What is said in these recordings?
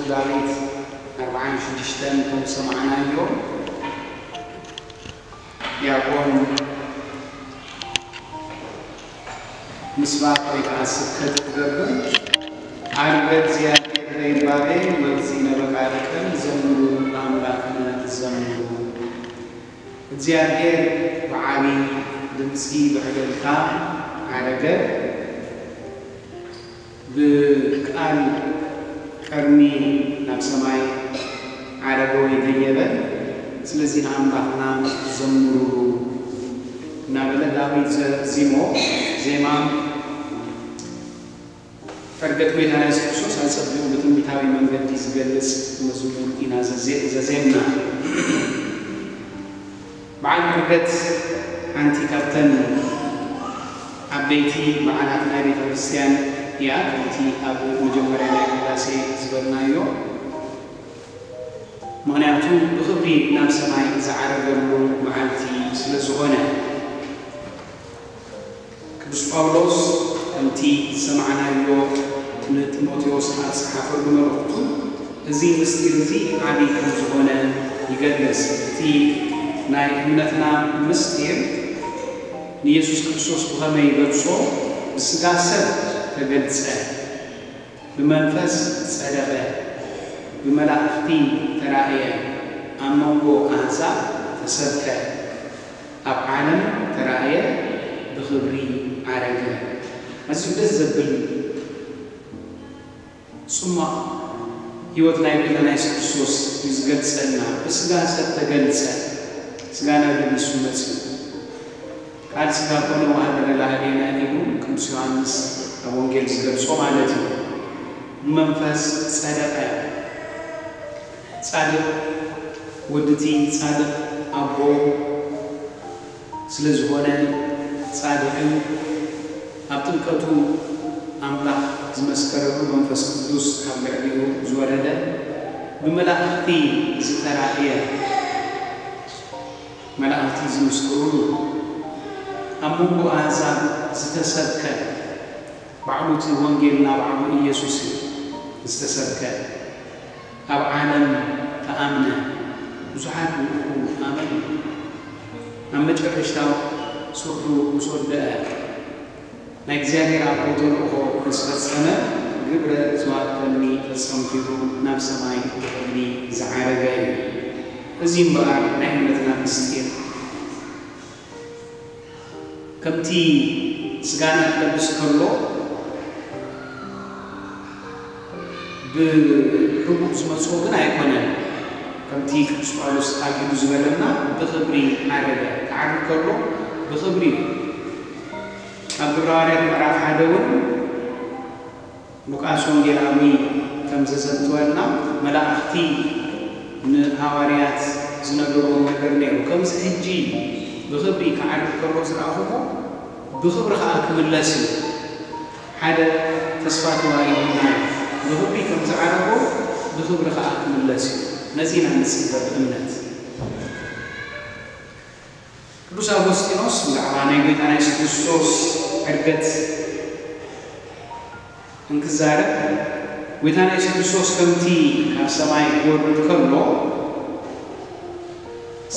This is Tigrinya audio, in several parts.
ዳዊት ኣርብዓን ሽዱሽተን ከም ዝሰማዕናዮ፣ ዲያቆን ምስባክ ወይ ከዓ ስብከት ክገብር፣ ዓርገ እግዚኣብሔር በይባቤ ወእግዚእነ በቃልከ ዘምሩ ለአምላክነ ዘምሩ። እግዚኣብሔር ብዓቢ ድምፂ ብዕልልታ ዓረገ። ብቃል ቀርኒ ናብ ሰማይ ዓረገ ወይ ደየበ። ስለዚ ንኣምላኽና ዘምሩሉ እናበለ ዳዊት ዘዚሞ። ዜማ ዕርገት ጎይታና የሱስ ክርስቶስ ኣጸቢቑ ብትንቢታዊ መንገዲ ዝገልጽ መዝሙር ኢና ዘዜ-፣ ዘዜምና። በዓል ዕርገት ሓንቲ ካብተን ዓበይቲ በዓላት ናይ ቤተ ክርስቲያን እያ። ከምቲ ኣብ መጀመርያ ናይ ቅዳሴ ዝበልናዮ፣ ምኽንያቱ ብኽብሪ ናብ ሰማይ ዝዓረገሉ መዓልቲ ስለ ዝኾነ። ቅዱስ ጳውሎስ ከምቲ ዝሰማዕናዮ ንጢሞቴዎስ ኣብ ዝጸሓፈሉ መልእኽቱ፣ እዚ ምስጢር እዚ ዓቢ ከም ዝኾነ ይገልጽ። እቲ ናይ እምነትና ምስጢር ንየሱስ ክርስቶስ ብኸመይ ይገልጾ? ብስጋ ሰብ ተገልጸ፣ ብመንፈስ ጸደቐ፣ ብመላእኽቲ ተራእየ፣ ኣብ መንጎ ኣህዛብ ተሰብከ፣ ኣብ ዓለም ተራእየ፣ ብኽብሪ ዓረገ። ኣዝዩ ደስ ዘብል ጽሟቕ ህይወት ናይ ጎይታና የሱስ ክርስቶስ እዩ ዝገልጸልና። ብስጋ ሰብ ተገልጸ፣ ስጋና ለቢሱ መጺኡ። ቃል ስጋ ኮነ ወሀደረ ላዕሌነ ኢሉ ቅዱስ ዮሃንስ ኣብ ወንጌል ዝገልጾ ማለት እዩ። ብመንፈስ ጸደቐ። ጻድቕ ወድቲ ጻድቕ ኣቦ ስለ ዝኾነ ጻድቕን ኣብ ጥምቀቱ ኣምላኽ ዝመስከረሉ መንፈስ ቅዱስ ኣብ ልዕሊኡ ዝወረደ ብመላእኽቲ ዝተራእየ መላእኽቲ ዝምስክሩሉ፣ ኣብ መንጎ ኣህዛብ ዝተሰብከ፣ ባዕሉ እቲ ወንጌል ናባዕሉ ኢየሱስ እዩ ዝተሰብከ፣ ኣብ ዓለም ተኣምነ፣ ብዙሓት ብኡ ኣመኑ። ኣብ መጨረሽታ ስርሑ ምስ ወደአ፣ ናይ እግዚኣብሔር ኣቦ ተልእኾ ምስ ፈጸመ፣ ግብረ ዝዋፈኒ ፈጸምኩ ኢሉ ናብ ሰማይ ብኽብሪ ዝዓረገ እዩ። እዚ እምበኣር ናይ እምነትና ምስጢር። ከምቲ ስጋና ክለብስ ከሎ ብሕቡእ ዝመጽኦ ግን ኣይኮነን። ከምቲ ቅዱስ ጳውሎስ ኣጊዱ ዝበለና ብኽብሪ ዓረገ። ክዓርግ ከሎ ብኽብሪ እዩ። ኣብ ግብረ ሃዋርያት ምዕራፍ ሓደ እውን ሉቃስ ወንጌላዊ ከም ዘዘንትወልና፣ መላእኽቲ ንሃዋርያት ዝነገርዎም ነገር ነይሩ። ከምዚ ሕጂ ብኽብሪ ክዓርግ ከሎ ዝረኣኹዎ፣ ብኽብሪ ኸዓ ክምለስ እዩ። ሓደ ተስፋ ተዋሂቡና እዩ። ብኽብሪ ከም ዝዓረጎ፣ ብኽብሪ ኸዓ ክምለስ እዩ። ነዚ ኢና ንጽበ ብእምነት። ቅዱስ ኣጎስጢኖስ ብዛዕባ ናይ ጎይታና የሱስ ክርስቶስ ዕርገት እንክዛረብ፣ ጎይታና የሱስ ክርስቶስ ከምቲ ካብ ሰማይ ክወርድ ከሎ፣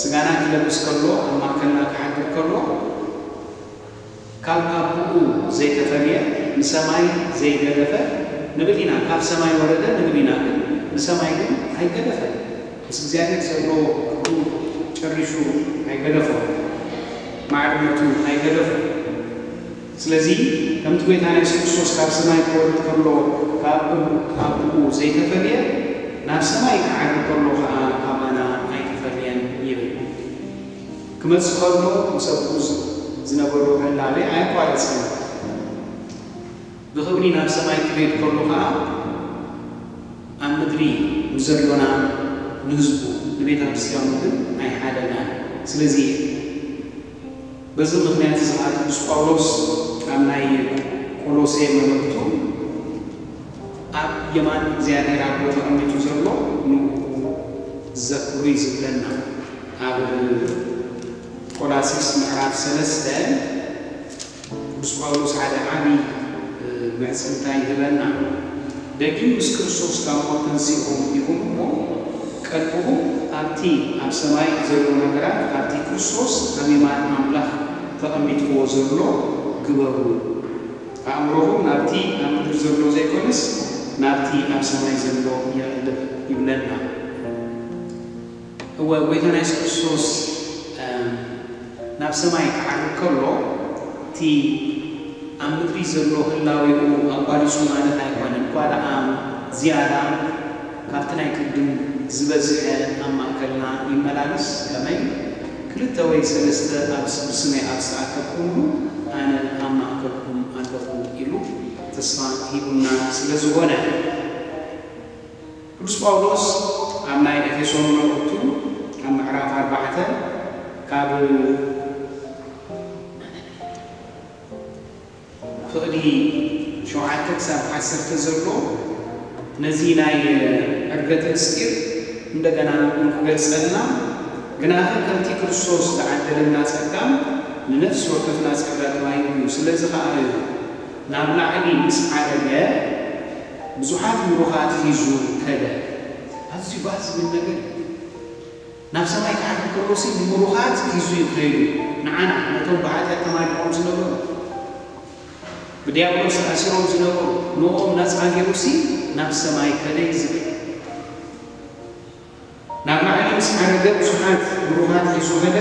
ስጋና ክለብስ ከሎ፣ ኣብ ማእከልና ክሓድር ከሎ፣ ካብ ኣቦኡ ዘይተፈልየ፣ ንሰማይ ዘይገደፈ ንብል ኢና። ካብ ሰማይ ወረደ ንብል ኢና፣ ግን ንሰማይ ግን ኣይገደፈን። ምስ እግዚኣብሔር ዘሎ ክብሩ ጨሪሹ ኣይገደፎን፣ ማዕርነቱ ኣይገደፎን። ስለዚ ከምቲ ጎይታና የሱስ ክርስቶስ ካብ ሰማይ ክወርድ ከሎ ካብ ኣቦኡ ዘይተፈልየ፣ ናብ ሰማይ ክዓርግ ከሎ ኸዓ ካባና ኣይተፈልየን ይብል። ክመጽእ ከሎ ምስ ኣቦኡ ዝነበሮ ህላዌ ኣየቋረጸን። ብኽብሪ ናብ ሰማይ ክኸይድ ከሎ ኸዓ ኣብ ምድሪ ንዘሎና ንህዝቡ ንቤተ ክርስቲያኑ ግን ኣይሓደጋን። ስለዚ በዚ ምኽንያት እዚ ኸዓ ቅዱስ ጳውሎስ ኣብ ናይ ቆሎሴ መልእኽቱ ኣብ የማን እግዚኣብሔር ኣቦ ተቐሚጡ ዘሎ ንኡ ዘክሩ እዩ ዝብለና። ኣብ ቆላሲስ ምዕራፍ ሰለስተ ቅዱስ ጳውሎስ ሓደ ዓቢ ምዕጽምታ ይህበና። ደጊም ምስ ክርስቶስ ካብ ሞት ተንሲእኹም ኢኹም እሞ፣ ቀልብኹም ኣብቲ ኣብ ሰማይ ዘሎ ነገራት፣ ኣብቲ ክርስቶስ ኣብ የማን ኣምላኽ ተቐሚጥዎ ዘሎ ግበሩ። ኣእምሮኹም ናብቲ ኣብ ምድሪ ዘሎ ዘይኮነስ፣ ናብቲ ኣብ ሰማይ ዘሎ የቕልብ ይብለና። እወ፣ ጎይታና የሱስ ክርስቶስ፣ እም፣ ናብ ሰማይ ክዓርግ ከሎ፣ እቲ ኣብ ምድሪ ዘሎ ህላዌኡ ኣቋሪጹ ማለት ኣይኮነን። እኳ ደኣ ዝያዳ ካብቲ ናይ ቅድም ዝበዝሐ ኣብ ማእከልና ይመላለስ፣ ከመይ ክልተ ወይ ሰለስተ ኣብ ስ-፣ ብስመይ ኣብ ዝተኣከብኩምሉ፣ ኣነ ኣብ ማእከልኩም ኣለኹ ኢሉ ተስፋ ሂቡና ስለ ዝኾነ። ቅዱስ ጳውሎስ ኣብ ናይ ኤፌሶን መልእኽቱ ኣብ ምዕራፍ ኣርባዕተ ካብ ፍቕዲ ሸውዓተ ክሳብ ዓሰርተ ዘሎ ነዚ ናይ ዕርገት ምስጢር እንደገና እንክገልጸልና፣ ግናኸ ከምቲ ክርስቶስ ዝዓደለና ጸጋ ንነፍሲ ወከፍና ጸጋ ተዋሂቡ እዩ። ስለዚ ኸኣ እዩ ናብ ላዕሊ ምስ ዓረገ ብዙሓት ምሩኻት ሒዙ ከደ። ኣዝዩ ባህ ዝብል ነገር እዩ። ናብ ሰማይ ክዓርግ ከሎሲ ንምሩኻት ሒዙ እዩ ከይዱ። ንዓና፣ ነቶም ብሓጢኣት ተማሪኾም ዝነበሩ፣ ብዲያብሎስ ተኣሲሮም ዝነበሩ፣ ንኦም ነጻ ገይሩሲ ናብ ሰማይ ከደ እዩ ዝብል። ናብ ላዕሊ ምስ ዓረገ ብዙሓት ብሩኻት ሒዙ ኸደ፣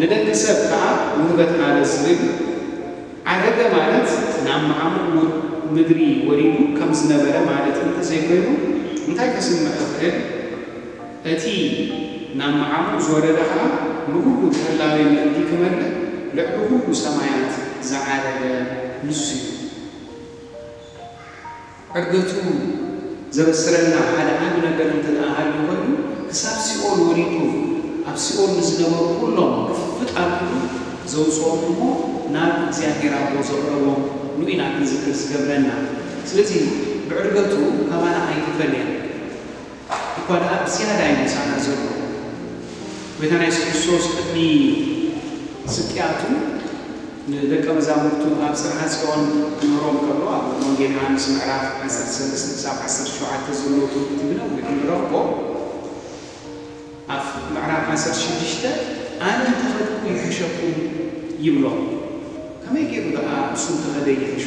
ንደቂ ሰብ ከኣ ውህበት ሃበ ዝብል። ዓረገ ማለት ናብ መዓሙቕ ምድሪ ወሪዱ ከም ዝነበረ ማለት እንተዘይኮይኑ፣ እንታይ ከስምዕ ይኽእል? እቲ ናብ መዓሙቕ ዝወረደ ኸኣ ንኹሉ ብህላዌ ምእንቲ ክመልእ ልዕሊ ኹሉ ሰማያት ዝዓረገ ንሱ እዩ። ዕርገቱ ዘበስረልና ሓደ ዓቢ ነገር እንተ ደኣ ሃልዩ ኮይኑ፣ ክሳብ ሲኦል ወሪዱ፣ ኣብ ሲኦል ንዝነበሩ ኩሎም ግፍጥ ኣቢሉ ዘውጽኦም እሞ ናብ እግዚኣብሔር ኣቦ ዘቕረቦም ንኡ ኢና ክንዝክር ዝገብረና። ስለዚ ብዕርገቱ ካባና ኣይተፈልየን። እኳ ደኣ ብዝያዳ እዩ ምሳና ዘሎ። ጎይታና የሱስ ክርስቶስ ቅድሚ ስቅያቱ ንደቀ መዛሙርቱ ኣብ ጽርሐ ጽዮን ክምህሮም ከሎ፣ ኣብ ወንጌል ዮሃንስ ምዕራፍ ዓሰርተ ሰለስተ ክሳብ ዓሰርተ ሸውዓተ ዘሎ ትምህርቲ ብነዊሑ ንረኽቦ። ኣብ ምዕራፍ ዓሰርተ ሽዱሽተ፣ "ኣነ እንተኸድኩ ይሕሸኩም" ይብሎም። ከመይ ገይሩ ደኣ እሱ እንተኸደ ይሕሾ?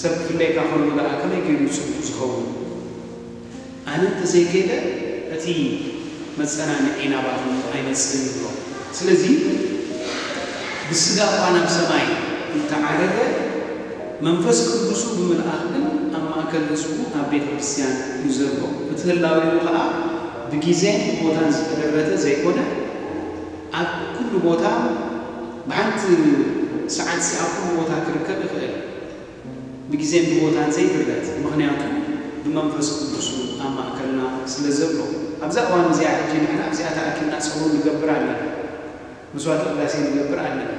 ሰብ ክፍለየካ ከሎ ደኣ ከመይ ገይሩ እዩ ጽቡቕ ዝኸውን? ኣነ እንተዘይከይደ እቲ መጸናንዒ ናባኹም ኣይመጽእን ይብሎ። ስለዚ ብስጋ እኳ ናብ ሰማይ እንተዓረገ፣ መንፈስ ቅዱሱ ብምልኣኽ ግን ኣብ ማእከል ህዝቡ ኣብ ቤተ ክርስቲያን እዩ ዘሎ። እቲ ህላዌኡ ኸኣ ብግዜን ቦታን ዝተደረተ ዘይኮነ፣ ኣብ ኩሉ ቦታ ብሓንቲ ሰዓትሲ ኣብ ኩሉ ቦታ ክርከብ ይኽእል። ብግዜን ብቦታን ዘይግረት፣ ምኽንያቱ ብመንፈስ ቅዱሱ ኣብ ማእከልና ስለ ዘሎ። ኣብዛ እዋን እዚኣ ሕጂ ንሕና ኣብዚኣ ተኣኪብና ጸሎት ንገብር ኣለና። መስዋዕተ ቅዳሴ ንገብር ኣለና።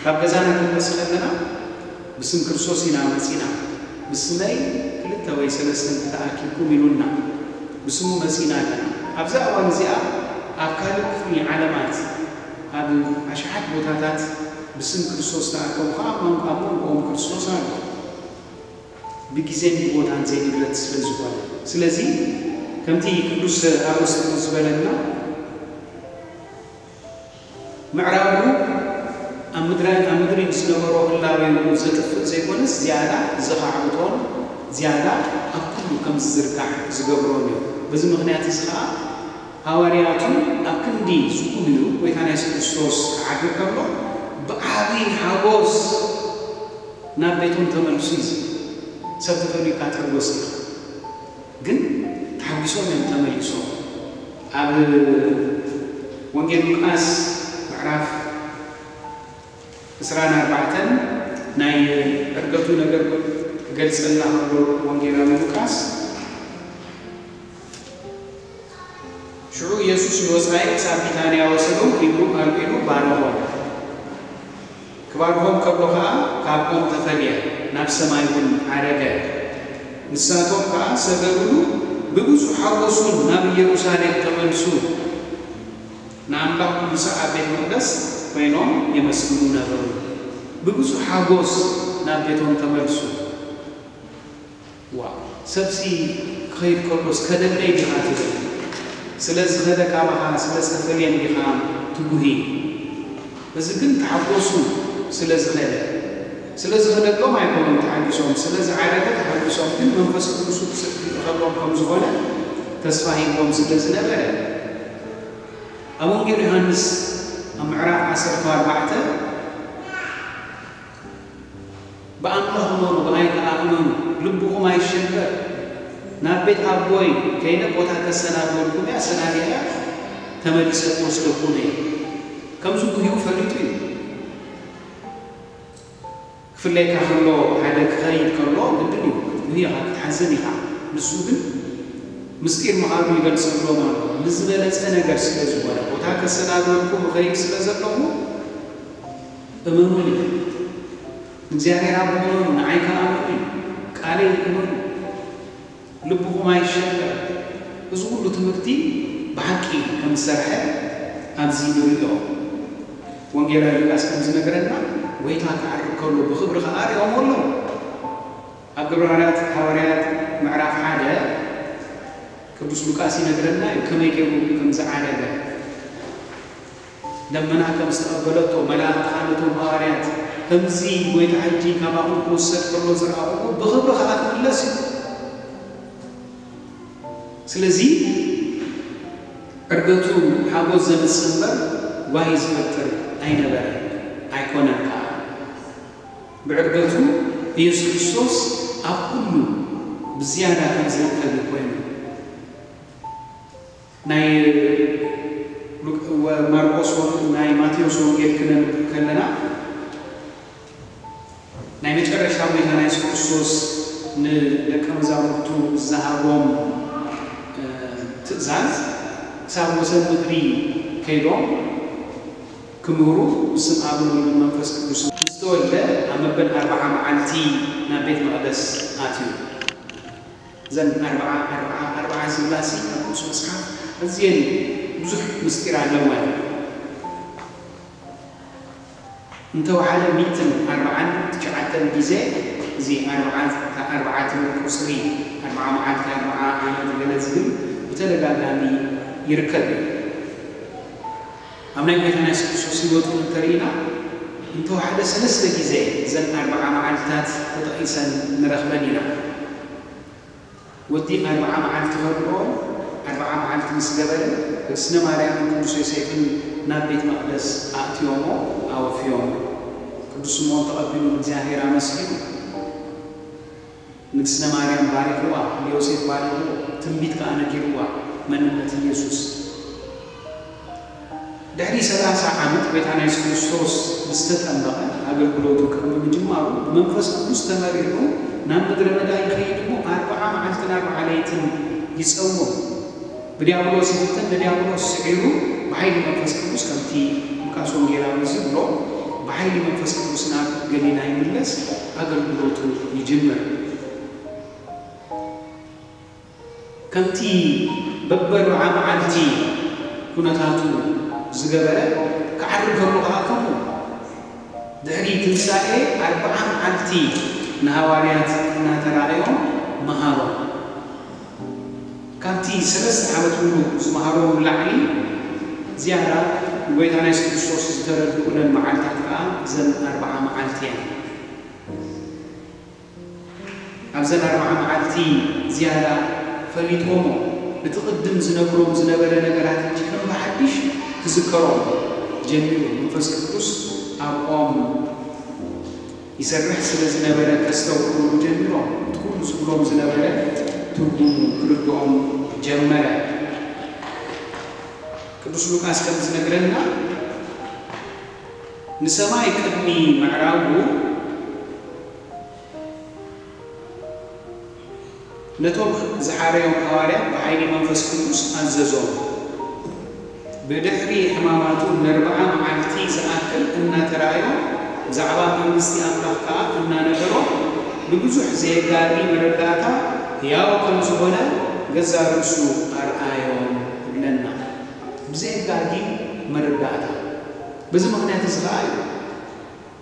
ካብ ገዛና ክንመጽእ ከለና ብስም ክርስቶስ ኢና መጺና። ብስመይ ክልተ ወይ ሰለስተ እንተተኣኪብኩም ኢሉና፣ ብስሙ መጺና ኣለና። ኣብዛ እዋን እዚኣ ኣብ ካልእ ክፍሊ ዓለማት፣ ኣብ ኣሽሓት ቦታታት ብስም ክርስቶስ ተኣከቡ ኸኣ፣ ኣብ መንጎ-፣ ኣብ መንጎኦም ክርስቶስ ኣሎ። ብግዜን ብቦታን ዘይንግረት ስለ ዝኾነ። ስለዚ፣ ከምቲ ቅዱስ ኣውግስጢኖስ ዝበለና፣ ምዕራጉ ኣብ ምድሪ፣ ኣብ ምድሪ ዝነበሮ ህላዌኡ ዘጥፍእ ዘይኮነስ፣ ዝያዳ ዘኻዕብቶን ዝያዳ ኣብ ኩሉ ከም ዝዝርጋሕ ዝገብሮን እዩ። በዚ ምኽንያት እዚ ኸኣ፣ ሃዋርያቱ ኣብ ክንዲ ዝጉህዩ፣ ጎይታና የሱስ ክርስቶስ ክዓርግ ከሎ፣ ብዓቢ ሓጎስ ናብ ቤቶም ተመልሱ እዩ ዝብል። ሰብ ተፈልዩካ ትሕጎስ ኢኻ። ግን ተሓጒሶም እዮም ተመሊሶም። ኣብ ወንጌል ሉቃስ ምዕራፍ ዕስራን ኣርባዕተን ናይ ዕርገቱ ነገር ክገልጸልና ከሎ ወንጌላዊ ሉቃስ፣ ሽዑ ኢየሱስ ንወጻኢ ክሳብ ቢታንያ ወሰዶም፣ ኢዱ ኣልዒሉ ባረኾም። ክባርኾም ከሎ ኸኣ ካብ ኦም ተፈልየ፣ ናብ ሰማይ እውን ዓረገ። ንሳቶም ከኣ ሰገዱሉ፣ ብብዙሕ ሓጎስ እውን ናብ ኢየሩሳሌም ተመልሱ። ንኣምላኽ ክምስዕ ኣብ ቤት መቕደስ ኮይኖም የመስግኑ ነበሩ። ብብዙሕ ሓጎስ ናብ ቤቶም ተመልሱ። ሰብሲ ክኸይድ ከሎስ ከደለይ ዲኻ ትብል? ስለ ዝኸደ ካባኻ ስለ ዝተፈልየን ዲኻ ትጉሂ? እዚ ግን ተሓጎሱ ስለ ዝኸደ። ስለ ዝኸደሎም ኣይኮኑን ተሓጊሶም፣ ስለ ዝዓረገ ተሓጊሶም፣ ግን መንፈስ ቅዱሱ ክስዕብ ይእኸሎም ከም ዝኾነ ተስፋ ሂብዎም ስለ ዝነበረ። ኣብ ወንጌል ዮሃንስ ኣብ ምዕራፍ ዓሰርተ ኣርባዕተ ብኣምላኽ እመኑ፣ ብኣይ ከኣ እመኑ፣ ልብኹም ኣይሸበር። ናብ ቤት ኣቦይ ከይደ ቦታ ከሰናድወልኩም እየ፣ ኣሰናዲኣ ተመሊሰ ክወስደኩም እየ። ከምዚ ጉህዩ ፈሊጡ እዩ። ክፍለየካ ከሎ፣ ሓደ ክኸይድ ከሎ ግድን እዩ፣ ክትጉህይ ኢኻ፣ ክትሓዝን ኢኻ። ንሱ ግን ምስጢር ምዃኑ ይገልጸሎም ኣሎ። ንዝበለጸ ነገር ስለ ዝኾነ፣ ቦታ ከሰናድወልኩም እኸይድ ስለ ዘለኹ እመኑኒ። ንእግዚኣብሔር ኣቦ እመኑ፣ ንዓይ ከኣ እመኑ፣ ቃለይ እመኑ፣ ልብኹም ኣይሸበር። እዚ ኩሉ ትምህርቲ ብሓቂ ከም ዝሰርሐ ኣብዚ ንርእዮ። ወንጌላዊ ሉቃስ ከም ዝነግረና፣ ጎይታ ክዓርግ ከሎ ብኽብሪ ከኣ ርእዮሞ ኣለዉ። ኣብ ግብረ ሃዋርያት፣ ሃዋርያት ምዕራፍ ሓደ ቅዱስ ሉቃስ ይነግረና እዩ፣ ከመይ ገይሩ ከም ዝዓረገ። ደመና ከም ዝተቐበለቶ፣ መላእኽቲ ከኣ ነቶም ሃዋርያት፣ "ከምዚ ጎይታ ሕጂ ካባኹም ክውሰድ ከሎ ዝረኣኹዎ፣ ብኽብሪ ከኣ ክምለስ እዩ።" ስለዚ፣ ዕርገቱ ሓጎስ ዘምጽእ እምበር፣ ጓሂ ዝፈጥር ኣይነበረን፣ ኣይኮነን ከኣ። ብዕርገቱ ኢየሱስ ክርስቶስ ኣብ ኩሉ ብዝያዳ ከም ዝርከብ እዩ ኮይኑ። ናይ ሉቅ-፣ ወ-፣ ማርቆስ ወ-፣ ናይ ማቴዎስ ወንጌል ክነንብብ ከለና፣ ናይ መጨረሻ ጎይታና የሱስ ክርስቶስ ንደቀ መዛሙርቱ ዝሃቦም፣ እ፣ ትእዛዝ፣ ክሳብ ወሰን ምድሪ ከይዶም ክምህሩ፣ ብስም ኣብን ወልድን መንፈስ ቅዱስን ዝተወልደ፣ ኣብ መበል ኣርብዓ መዓልቲ ናብ ቤት መቕደስ ኣትዩ። እዘን ኣርብዓ፣ ኣርብዓ፣ ኣርብዓ ዝብላሲ ኣብ ቅዱስ መጽሓፍ ኣዝየን ብዙሕ ምስጢር ኣለወን። እንተወሓደ ሚእትን ኣርብዓን ትሽዓተን ግዜ፣ እዚ ኣርብዓ፣ ኣርብዓ ትብል ቁጽሪ፣ ኣርብዓ መዓልቲ፣ ኣርብዓ ዓመት ገለ ዝብል ብተደጋጋሚ ይርከብ እዩ። ኣብ ናይ ጎይታና የሱስ ክርስቶስ ህይወት እውን እንተርኢና፣ እንተወሓደ ሰለስተ ግዜ እዘን ኣርብዓ መዓልትታት ተጠቒሰን ንረኽበን ኢና። ወዲ ኣርብዓ መዓልቲ ከብልኦ፣ ኣርብዓ መዓልቲ ምስ ገበረ፣ ቅድስነ ማርያምን ቅዱስ ዮሴፍን ናብ ቤት መቕደስ ኣእትዮሞ፣ ኣወፍዮሞ። ቅዱስ ስምዖን ተቐቢሉ ንእግዚኣብሔር ኣመስጊኑ። ንግስነ ማርያም ባሪኽዋ፣ ንዮሴፍ ባሪኽዎ፣ ትንቢት ከኣ ነጊርዋ፣ መንነት ኢየሱስ። ድሕሪ ሰላሳ ዓመት ጎይታና የሱስ ክርስቶስ ምስ ተጠመቐ፣ ኣገልግሎቱ ቅድሚ ምጅማሩ፣ ብመንፈስ ቅዱስ ተመሪሑ ናብ ምድረ በዳ ይኸይድ እሞ፣ ኣርብዓ መዓልትን ኣርብዓ ለይትን ይጸውም። ብዲያብሎስ ይፍተን፣ ንዲያብሎስ ስዒሩ፣ ብሓይሊ መንፈስ ቅዱስ፣ ከምቲ ሉቃስ ወንጌላዊ ዝብሎ፣ ብሓይሊ መንፈስ ቅዱስ ናብ ገሊላ ይምለስ፣ ኣገልግሎቱ ይጅምር። ከምቲ በበርብዓ መዓልቲ ኩነታቱ ዝገበረ፣ ክዓርግ ከሎ ከኣ ከምኡ። ድሕሪ ትንሳኤ ኣርብዓ መዓልቲ ንሃዋርያት እናተራእዮም መሃሮም። ካብቲ ሰለስተ ዓመት ሙሉ ዝመሃሮም ንላዕሊ ዝያዳ ንጎይታና የሱስ ክርስቶስ ዝተረድኡለን መዓልታት ከኣ እዘን ኣርብዓ መዓልቲ እየን። ኣብዘን ኣርብዓ መዓልቲ ዝያዳ ፈሊጥዎሞ፣ እቲ ቅድም ዝነግሮም ዝነበረ ነገራት ሕጂ ከም ብሓድሽ ክዝከሮም ጀሚሩ። መንፈስ ቅዱስ ኣብኦም ይሰርሕ ስለ ዝነበረ፣ ከስተውዕሉ ጀሚሮም። እቲ ኩሉ ዝብሎም ዝነበረ ትርጉሙ ክርድኦም ጀመረ። ቅዱስ ሉቃስ ከም ዝነግረና፣ ንሰማይ ቅድሚ ምዕራጉ ነቶም ዝሓረዮም ሃዋርያት ብሓይሊ መንፈስ ቅዱስ ኣዘዞም። ብድሕሪ ሕማማቱ ነርብዓ መዓልቲ ዝኣክል እናተራእዮም ብዛዕባ መንግስቲ ኣምላኽ ከኣ እናነገሮም ንብዙሕ ዘየጋጊ መረዳእታ ሕያው ከም ዝኾነ ገዛእ ርእሱ ኣርኣዮም ይብለና። ብዘየጋጊ መረዳእታ። በዚ ምኽንያት እዚ ከኣ እዩ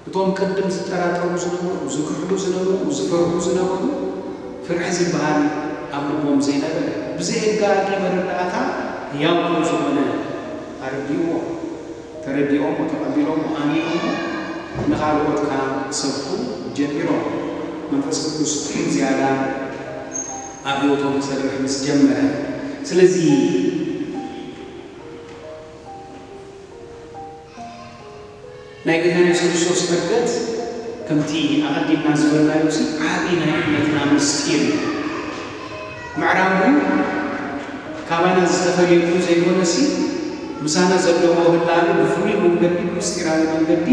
እቶም ቅድም ዝጠራጠሩ ዝነበሩ፣ ዝክሕዱ ዝነበሩ፣ ዝፈርሑ ዝነበሩ፣ ፍርሒ ዝበሃል ኣብ ልቦም ዘይነበረ፣ ብዘየጋጊ መረዳእታ ህያው ከም ዝኾነ ኣረዲእዎ፣ ተረዲኦሞ፣ ተቐቢሎሞ፣ ኣሚኖሞ፣ ንኻልኦት ከኣ ክሰብኩ ጀሚሮም። መንፈስ ቅዱስ ዝያዳ ኣብ ህይወቶም ክሰርሕ ምስ ጀመረ፣ ስለዚ ናይ ጎይታና የሱስ ክርስቶስ ዕርገት ከምቲ ኣቐዲምና ዝበልናዮ፣ እዚ ዓቢ ናይ እምነትና ምስጢር እዩ። ምዕራጉ ካባና ዝተፈልየሉ ዘይኮነሲ፣ ምሳና ዘለዎ ህላሉ ብፍሉይ መንገዲ፣ ብምስጢራዊ መንገዲ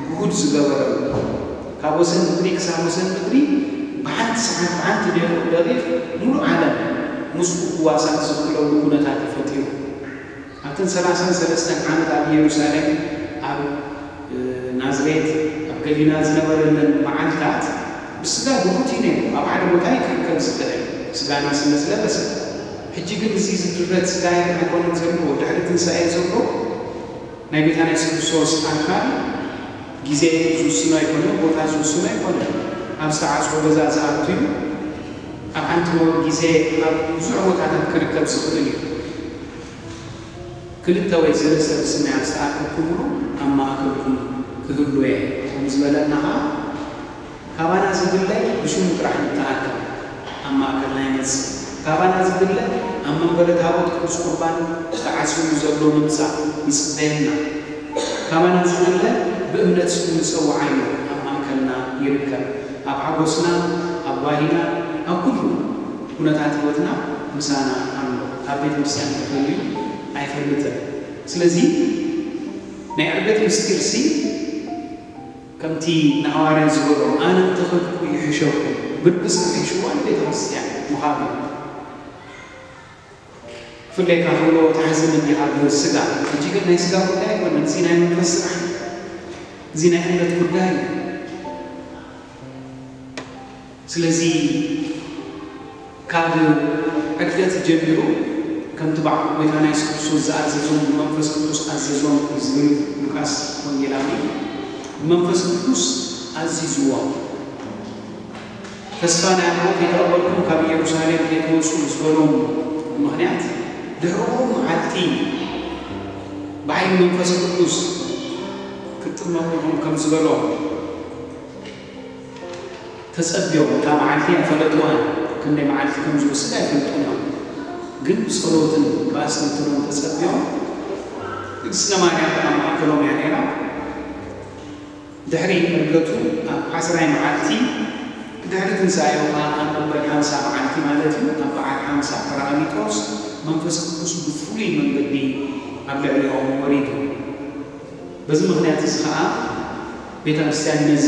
ግሁድ ዝገበረሉ፣ ካብ ወሰን ምድሪ ክሳብ ወሰን ምድሪ ብሓንቲ ሰዓት፣ ብሓንቲ ደቂቕ፣ ደቂቕ ሙሉእ ዓለም ምስኡ ክዋሳእ ዝኽእለሉ ኩነታት እዩ ፈጢሩ። ኣብተን ሰላሳን ሰለስተን ዓመት ኣብ ኢየሩሳሌም፣ ኣብ፣ እ፣ ናዝሬት፣ ኣብ ገሊላ ዝነበረለን መዓልታት ብስጋ ግሁድ እዩ ነይሩ። ኣብ ሓደ ቦታ እዩ ክርከብ ዝኽእል፣ ስጋና ስለ ዝለበሰ። ሕጂ ግን እዚ ዝድረት ስጋ ኣይኮነን ዘሎ፣ ድሕሪ ትንሳኤ ዘሎ ናይ ጎይታና የሱስ ክርስቶስ ኣካል ግዜ ዝውስኖ ኣይኮነን፣ ቦታ ዝውስኖ ኣይኮነን። ኣብ ዝተዓጽወ ገዛ ዝኣቱ እዩ። ኣብ ሓንቲ ግዜ ኣብ ብዙሕ ቦታታት ክርከብ ዝኽእል እዩ። ክልተ ወይ ሰለስተ ብስመይ ኣብ ዝተኣከብኩምሉ ኣብ ማእከልኩም ክህሉ እየ ከም ዝበለና ኸኣ፣ ካባና ዝድለ ብሽሙ ጥራሕ ንተኣከብ ኣብ ማእከልና ይመጽእ። ካባና ዝድለ ኣብ መንበረ ታቦት ቅዱስ ቁርባን ተዓጽዩ ዘሎ ምምጻእ ይጽበየና። ካባና ዝድለ ብእምነት ስሙ ንጸውዓዮ ኣብ ማእከልና ይርከብ። ኣብ ሓጎስና፣ ኣብ ጓሂና፣ ኣብ ኩሉ ኩነታት ህይወትና ምሳና ኣሎ። ካብ ቤተ ክርስቲያን ተፈልዩ ኣይፈልጥን። ስለዚ ናይ ዕርገት ምስጢርሲ ከምቲ ንሃዋርያ ዝበሎ፣ ኣነ እንተኸድኩ ይሕሸኩም፣ ብርግጽ ክሕሽዋ ንቤተ ክርስቲያን ምዃኑ እዩ። ክፍለየካ ከሎ ትሓዝን እንዲኻ ብስጋ፣ ሕጂ ግን ናይ ስጋ ጉዳይ ኣይኮነን፣ እዚ ናይ መንፈስ ስራሕ እዩ። እዚ ናይ እምነት ጉዳይ እዩ። ስለዚ ካብ ዕርገት ጀሚሩ ከምቲ ባዕሉ ጎይታና የሱስ ክርስቶስ ዝኣዘዞም ብመንፈስ ቅዱስ ኣዘዞም ዝብል ሉቃስ ወንጌላዊ፣ ብመንፈስ ቅዱስ ኣዚዝዎም። ተስፋ ናይ ኣምልኾ ከይተቐበልኩም ካብ ኢየሩሳሌም ከይትወጹ ዝበሎም ምኽንያት፣ ድሕርኡ መዓልቲ ብሓይሊ መንፈስ ቅዱስ ክትጥመቑ ኢኹም ከም ዝበሎም ተጸብዮም። እታ መዓልቲ ኣይፈለጥዋን፣ ክንደይ መዓልቲ ከም ዝወስድ ኣይፈልጡን እዮም። ግን ብጸሎትን ብኣስተንትኖን ተጸብዮም። ቅድስተ ማርያም ኣብ ማእከሎም እያ ነይራ። ድሕሪ ዕርገቱ ኣብ ዓስራይ መዓልቲ፣ ብድሕሪ ትንሳኤኡ ኸኣ ኣብ መበል ሓምሳ መዓልቲ ማለት እዩ፣ ኣብ በዓል ሓምሳ ጳራቅሊጦስ መንፈስ ቅዱስ ብፍሉይ መንገዲ ኣብ ልዕሊኦም ወሪዱ። በዚ ምኽንያት እዚ ኸኣ ቤተ ክርስቲያን ነዚ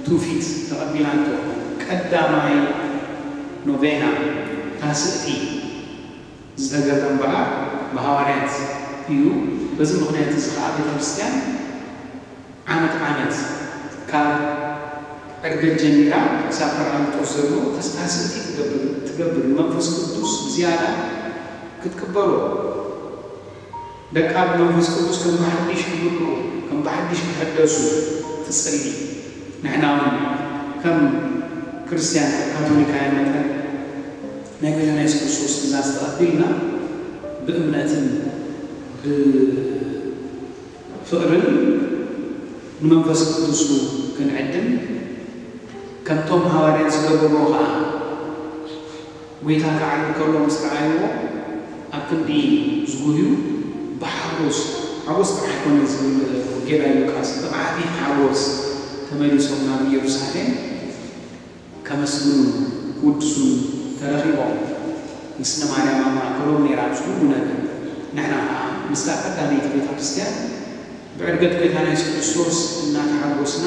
ትውፊት ተቐቢላቶ። ቀዳማይ ኖቬና፣ ታስእቲ፣ ዝተገብረ እምበኣር ብሃዋርያት እዩ። በዚ ምኽንያት እዚ ኸኣ ቤተ ክርስቲያን ዓመት ዓመት ካብ ዕርገት ጀሚራ ክሳብ ጳራቅሊጦስ ዘሎ ተስታስእቲ ትገብር፣ ትገብር፣ ንመንፈስ ቅዱስ ብዝያዳ ክትቅበሎ፣ ደቃ ብመንፈስ ቅዱስ ከም ብሓድሽ ክምልኡ፣ ከም ብሓድሽ ክሕደሱ ትጽሊ። ንሕና እውን ከም ክርስትያን፣ ከም ካቶሊካውያን መጠን ናይ ጎይታና የሱስ ክርስቶስ ትእዛዝ ተቐቢልና ብእምነትን ብ ፍቕርን ንመንፈስ ቅዱሱ ክንዕድም፣ ከምቶም ሃዋርያት ዝገበርዎ ኸኣ፣ ጐይታ ክዓርግ ከሎ ምስ ረኣይዎ፣ ኣብ ክንዲ ዝጉህዩ፣ ብሓጎስ፣ ሓጎስ ጥራሕ ኣይኮነን ዝብል ወንጌላዊ ሉቃስ፣ ብዓቢ ሓጎስ ተመሊሶም ናብ ኢየሩሳሌም ከመስግኑን ክውድሱን ተረኺቦም። ንግስነ ማርያም ኣብ ማእከሎም ነይራ ኣብዚ ኩሉ ነገር። ንሕና ኸኣ ምስታ ቀዳመይቲ ቤተ ክርስቲያን ብዕርገት ጐይታና የሱስ ክርስቶስ እናተሓጎስና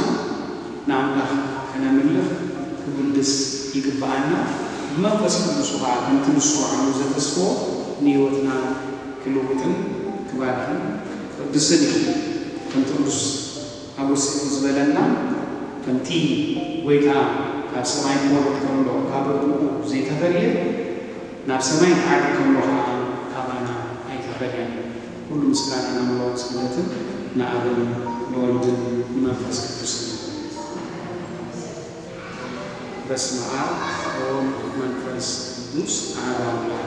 ንኣምላኽ ከነምልኽ ክውድስ ይግብኣና። ብመንፈስ ቅዱሱ ኸኣ ከምቲ ንሱ ዓቕሉ ዘተስፎ ንህይወትና ክልውጥን ክባርኽን ክቕድስን እዩ። ከምቲ ቅዱስ ኣጎስጢኖስ ዝበለና፣ ከምቲ ጐይታ ካብ ሰማይ ክወርድ ከሎ ካብ ኣቦኡ ዘይተፈልየ፣ ናብ ሰማይ ክዓርግ ከሎ ኸኣ ካባና ኣይተፈልየን። ኩሉ ምስጋና ናምልኾን ስግደትን ንኣብን ንወልድን ንመንፈስ ቅዱስን። በስመ አብ ወወልድ ወመንፈስ ቅዱስ አሐዱ አምላክ።